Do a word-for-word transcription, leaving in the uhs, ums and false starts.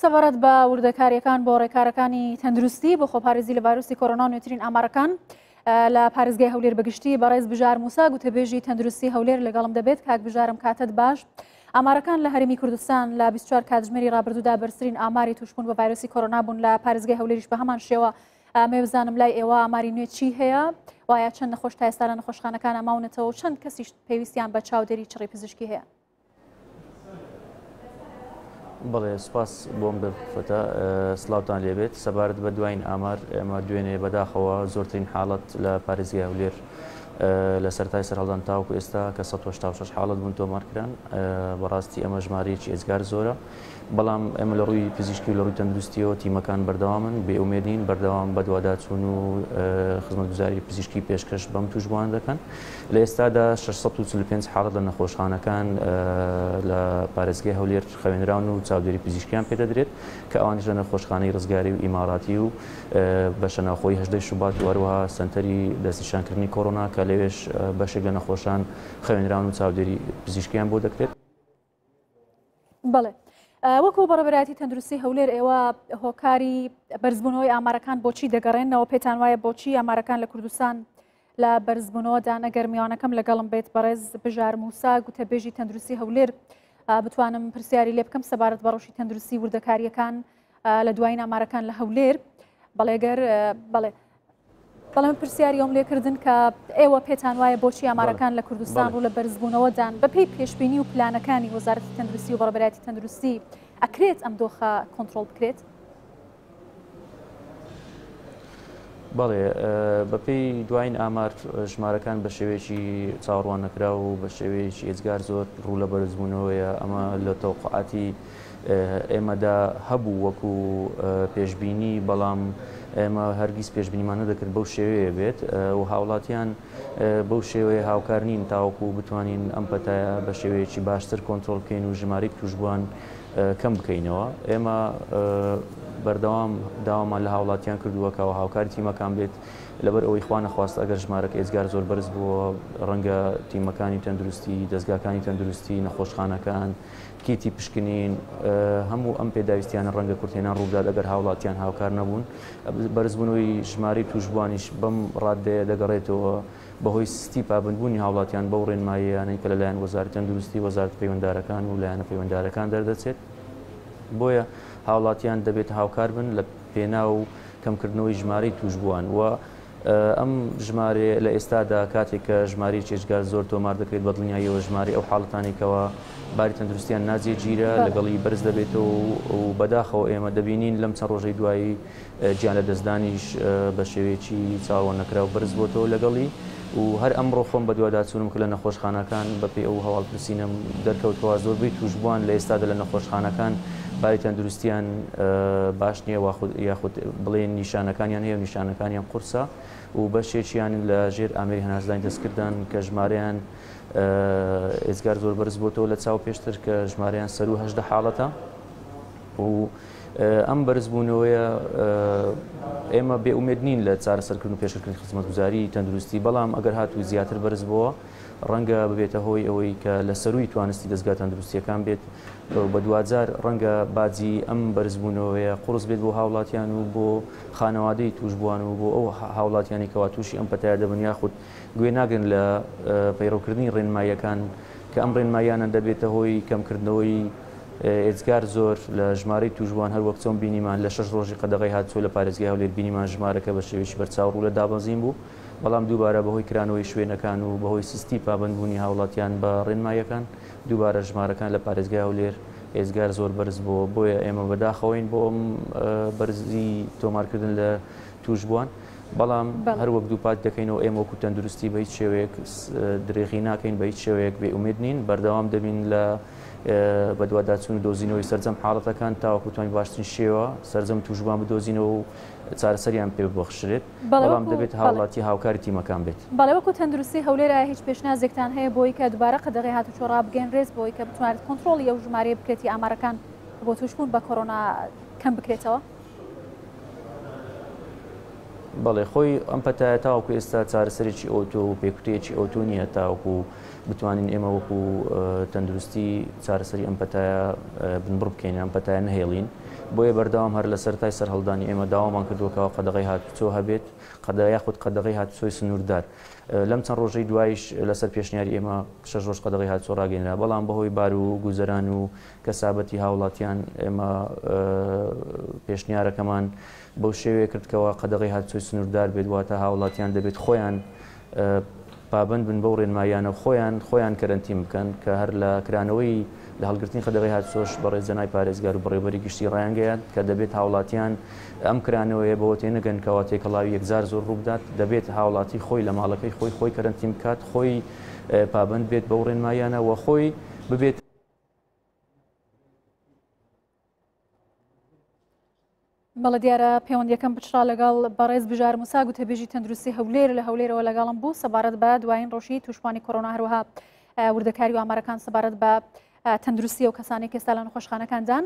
سەبارەت بە وردەکاریەکان بۆ ڕێکارەکانی تەندروستی بۆ خۆپارێزی لە ڤایرۆسی کۆرۆنا و نوێترین ئامارەکان لە پارێزگای هەولێر بەگشتی بەڕێز بژار موسا گوتەبێژی تەندروستی هەولێر لەگەڵم دەبێت. کاک بژارم کاتت باش. ئامارەکان لە هەرێمی کوردستان لە بیست و چوار کاتژمێری ڕابردوودا بەرزترین ئاماری توشبوون بە ڤایرۆسی کۆرۆنا بوون لە پارێزگای هەولێریش بە هەمان شێوە. ئەمێ بزانم لای ئێوە ئاماری نوێ چی هەیە؟ وایە چەند نەخۆش تا ئێستا لە نەخۆشخانەکان ماونەتەوە و چەند کەسیش پێویستیان بە چاودێری چڕی پزیشکی هەیە؟ بەڵێ، سپاس بۆم دەرفەتە، سلااوتان لێبێت. سەبارەت بە دوایین ئامار، ئێمە دوێنێ بەداخەوە زۆرترین حاڵەت لە پارێزگای هەولێر لە سەرتای سەرهەڵدان تاوەکو ئێستا کە سەد و هەشتا و شەش حاڵەت بوون تۆمار کران. بەڕاستی ئەمە ژمارەیەکی ئێجگار زۆرە، بەڵام ئێمە لە ڕووی پزیشکی و لە ڕووی تەندروستیەوە تیمەکان بەردەوامن، بێئومێد نین، بەردەوام بەدواداچوون و خزمەتگوزاری پزیشکی پێشکەش بەم توشبووان دەکەن. لە ئێستادا شەش سەد و چل و پێنج حاڵەت لە نەخۆشخانەکان لە پارێزگای هەولێر خەوێنراون و چاودێری پزیشکیان پێدەدرێت کە ئەوانیش لە نەخۆشخانەی ڕزگاری و ئیماراتی و بەشە ناوخۆی هەژدەی شوبات و هەروەها سەنتەری دەستنیشانکردنی کۆرۆنا کە لەوێش بەشێک لە نەخۆشان خەوێنراون و چاودێری پزیشکیان بۆ دەکرێت. بەڵێ، وەکو بەڕێوەبەرایەتی تەندروستی هەولێر ئێوە هۆکاری بەرزبوونەوەی ئامارەکان بۆچی دەگەڕێنەوە؟ پێتان وایە بۆچی ئامارەکان لە کوردستان لە بەرزبوونەوەدان؟ ئەگەر میوانەکەم لەگەڵم بێت بەڕێز بژار موسا گوتەبێژی تەندروستی هەولێر بتوانم پرسیاری لێ بکەم سەبارەت بە ڕەوشی تەندروستی وردەکاریەکان لە دوایین ئامارەکان لە هەولێر. بەڵێگەر بەڵێ بەڵێ من پرسیاری ئەوم لێکردن کە ئێوە پێتان وایە بۆچی ئامارەکان لە کوردستان ڕوو لە بەرزبوونەوەدان بەپێی پێشبینی و پلانەکانی وەزارەتی تەندروستی و بەڕێوەبەرایەتی تەندروستی ئەکرێت ئەم دۆخە کۆنترۆڵ بکرێت؟ بەڵێ، بەپێی دوایین ئامار ژمارەکان بە شێوەیەکی چاوەڕوان نەکراو و بە شێوەیەکی ئێجگار زۆر ڕوو لە بەرزبوونەوەیە. ئەمە لە تەوقعاتی ئێمەدا هەبوو وەکو پێشبینی، بەڵام ئێمە هەرگیز پێشبینیمان نەدەکرد بەو شێوەیە بێت و هاوڵاتیان بەو شێوەیە هاوکار نین تاوەکو بتوانین ئەم پەتایە بە شێوەیەکی باشتر کۆنترۆڵ بکەین و ژمارەی توشبووان کەم بکەینەوە. ئێمە بەردەوام داوامان لە هاوڵاتیان کردووە کەەوە هاوکاری تیمەکان بێت، لەبەر ئەوەی خوا نەخواست ئەگەر ژمارەکە ئێجگار زۆر بەرز بووە ڕەنگە تیمەکانی تەندروستی، دەستگاکانی تەندروستی، نەخۆشخانەکان، کیتی پشکنین، هەموو ئەم پێداویستیانە ڕەنگە کورتهێنان ڕووبدات ئەگەر هاوڵاتیان هاوکار نەبوون. بەرزبوونەوەی ژمارەی توشبووانیش بەم ڕادەیە دەگەڕێتەوە بەهۆی سستی پابندبوونی هاوڵاتیان بەو ڕێنماییانەی کە لەلایەن وەزارەتی تەندروستی، وەزارەتی پەیوەنددارەکان و لایەنە پەیوەنددارەکان دەردەچێت. بۆیە هاوڵاتیان دەبێت هاوکار بن لە پێناو و کەمکردنەوەی ژمارەی توشبووان. و ئەم ژمارەیە لە ئێستادا کاتێک کە ژمارەی ئێجگار زۆر تۆمار دەکرێت بە دڵنیاییەوە ژمارەی ئەو حاڵەتانێکەوە باری تەندروستیان ناجێگیرە لەگەڵی بەرز دەبێتەوە و بەداخەوە ئێمە دەبینین لەم چەند ڕۆژەی دوایی گیان لە دەستدانیش بە شێوەیەکی چاوەڕوان نەکراو بەرز بۆتەوە لەگەڵی. و هەر ئەمڕۆ خۆم بەدواداچوونم کە لە نەخۆشخانەکان بەپێی ئەو هەواڵپرسینەم دەرکەوتەوە زۆربەی توشبووان لە ئێستادا لە نەخۆشخانەکان باری تەندروستیان باش نییە یاخود بڵێن نیشانەکانیان هەیە و نیشانەکانیان قورسە و بەشێکیان لە ژێر ئامێری هەناسەدانی دەستکردان کە ژمارەیان ئێجگار زۆر بەرز بۆتەوە لە چاو پێشتر کە ژمارەیان سەرو هەژدە حاڵەتە. و ئەم بەرزبوونەوەیە ئێمە بێئومێد نین لە چارەسەرکردن و پێشکردنی خزمەتگوزاری تەندروستی، بەڵام ئەگەر هاتوو زیاتر بەرز بووە ڕەنگە ببێتە هۆی ئەوەی کە لە سەروی توانستی دەستگا تەندروستیەکان بێت بە دوجار ڕەنگە باجی ئەم بەرزبوونەوەیە قورس بێت بۆ هاوڵاتیان و بۆ خانەوادەی توشبووان و بۆ ئەو هاوڵاتیانی کەوا تووشی ئەم پەتایە دەبن یاخود گوێ ناگرن لە پەیڕەوکردنی ڕێنماییەکان کە ئەم ڕێنماییانە دەبێتە هۆی کەمکردنەوەی ئێجگار زۆر لە ژمارەی توشبووان. هەر وەک چۆن بینیمان لە شەش ڕۆژی قەدەغەی هاتووە لە پارێزگای هەولێر بینیمان ژمارەکە بە شێوەیەکی بەرچاو ڕوو لە دابەزین بوو، بەڵام دووبارە بەهۆی کرانەوەی شوێنەکان و بەهۆی سستی پابندبوونی هاوڵاتیان بە ڕێنماییەکان دووبارە ژمارەکان لە پارێزگای هەولێر ئێجگار زۆر بەرز بووە. بۆیە ئێمە بەداخەوەین بۆ ئەم بەرزی تۆمارکردن لە توشبووان، بەڵام هەر وەک دووپات دەکەینەوە ئێمە وەکو تەندروستی بە هیچ شێوەیەک درێغی ناکەین، بە هیچ شێوەیەک بێئومێد نین، بەردەوام دەبین لە بەدواداچوون و دۆزینەوەی سەرجەم حاڵەتەکان تاوەکو توانین باشترین شێوە سەرجەم توشبووان بدۆزینەوە و چارەسەریان پێ ببەخشرێت، بەڵام دەبێت هاوڵاتی هاوکاری تیمەکان بێت. بەڵێ، وەکو تەندروستی هەولێر هیچ پێشنازێکتان هەیە بۆی کە دووبارە قەدەغەی هاتوچۆ ڕابگەیەنرێت بۆی کە بتوانێت کۆنترۆڵی ئەو ژمارەیە بکرێتی ئامارەکان بۆ توشبوون بە کۆرۆنا کەم بکرێتەوە؟ بەڵێ، خۆی ئەم پەتایە تاوەکو ئێستا چارەسەرێکی ئەوتۆ و پێکوتەیەکی ئەوتۆ نییە تاوەکو بتوانین ئێمە وەکو تەندروستی چارەسەری ئەم پەتایە بنبڕ بکەین، ئەم پەتایە نەهێڵین. بۆیە بەردەوام هەر لە سەرەتای سەرهەڵدانی ئێمە داوامان کردووە کەوا قەدەغەی هاتوچۆ هەبێت، قەدە یاخود قەدەغەی هاتوچۆی سنووردار. لەم چەند ڕۆژەی دوایش لەسەر پێشنیاری ئێمە شەش ڕۆژ قەدەغەی هاتوچۆ ڕاگەیەنرا، بەڵام بەهۆی بار و گوزەران و کەسابەتی هاوڵاتیان ئێمە پێشنیارەکەمان بەو شێوەیە کردکەوە قەدەغەی هاتوچۆی سنووردار بێت، واتە هاوڵاتیان دەبێت خۆیان پابند بن بەو ڕێنماییانە خۆیان خۆیان کەرەنتین بکەن، کە هەر لە کرانەوەی لە هەڵگرتنی قەدەغەی هاتوچۆش بەڕێز جەنای پارێزگار و بەڕێوەبەری گشتی ڕایانگەیاند کە دەبێت هاوڵاتیان ئەم کرانەوەیە بەوە تێنەگەن کەوا تێکەڵاوی یەکجار زۆر ڕووبدات، دەبێت هاوڵاتی خۆی لە ماڵەکەی خۆی خۆی کەرەنتین بکات، خۆی پابند بێت بەو ڕێنماییانە و خۆی ببێت. بەڵێ دیارە پەیوەندیەکەم بچڕا لەگەڵ بەڕێز بژار موسا گوتەبێژی تەندروستی هەولێر لە هەولێرەوە لەگەڵم بوو سەبارەت بە دوایین ڕۆژی تووشبوانی کۆرۆنا، هەروەها وردەکاری و ئامارەکان سەبارەت بە تەندروستی و کەسانی کە ئێستا لە نەخۆشخانەکاندان.